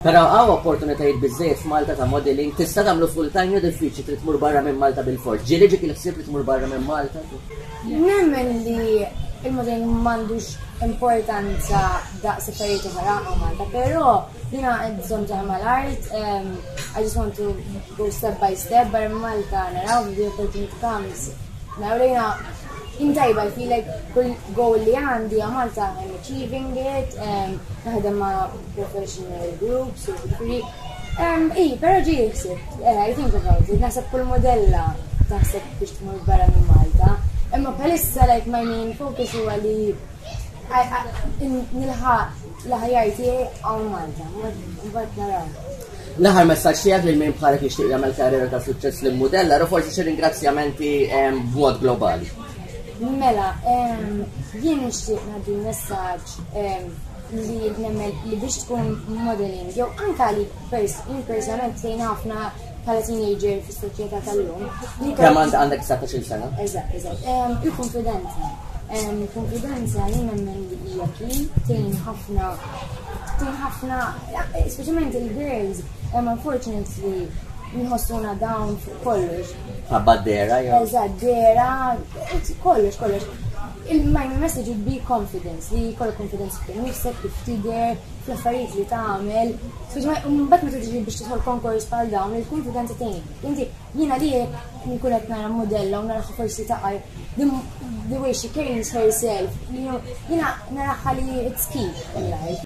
Però hawn opportunitajiet biżżejjed f'Malta ta' modeling, tista' tagħmlu full time jew diffiċli trid tmur barra minn Malta bilfors. Ġieli ġiek il-ħsieb li tmur barra minn Malta? Nemmen li il-modeling m'għandux importanza daqs affarijiet oħra hawn Malta, però jiena bżonn ta' mal-art, I just want to go step by step barra minn Malta naraw the opportunity comes. Naraw li jiena intajba, I feel like kull goal li għandi hawn Malta I'm achieving it, naħdem ma' professional groups, u ġifieri. I, però ġieli ħsibt, I think about it, naħseb kull modella taħseb biex tmur barra minn Malta. Imma bħalissa like my main focus huwa li nilħaq l-aħjar tiegħi hawn Malta, mbagħad naraw. L-aħħar messaġġ tiegħek lil min bħalek jixtieq jagħmel karriera ta' suċċess lil mudella u forsi xi ringrazzjamenti b'mod globali. Mela, jien nixtieq ngħaddi messaġġ li nemmen li biex tkun modeling, jew anka li jien personalment tgħin ħafna bħala teenager fis-soċjetà tal-lum. Kemm għandek 19-il sena? Eżatt, eżatt. Il-konfidenza. Konfidenza jien nemmen li hija key, tgħin ħafna tgħin ħafna, speċjalment il-girls, unfortunately, nħossuna down fuq kollox. Ħabba dehra, jew? Eżatt, dehra, kollox, kollox. Il-my message would be confidence, li jkollok confidence fik nifsek, kif tidher, fl-affarijiet li tagħmel. Mbagħad meta tiġi biex tidħol konkors bħal dawn, il-konfidenza tgħin. Inti jiena li jekk nkun qed nara modella u naraha forsi taqa' the way she carries herself, jiena naraha li it's key in life.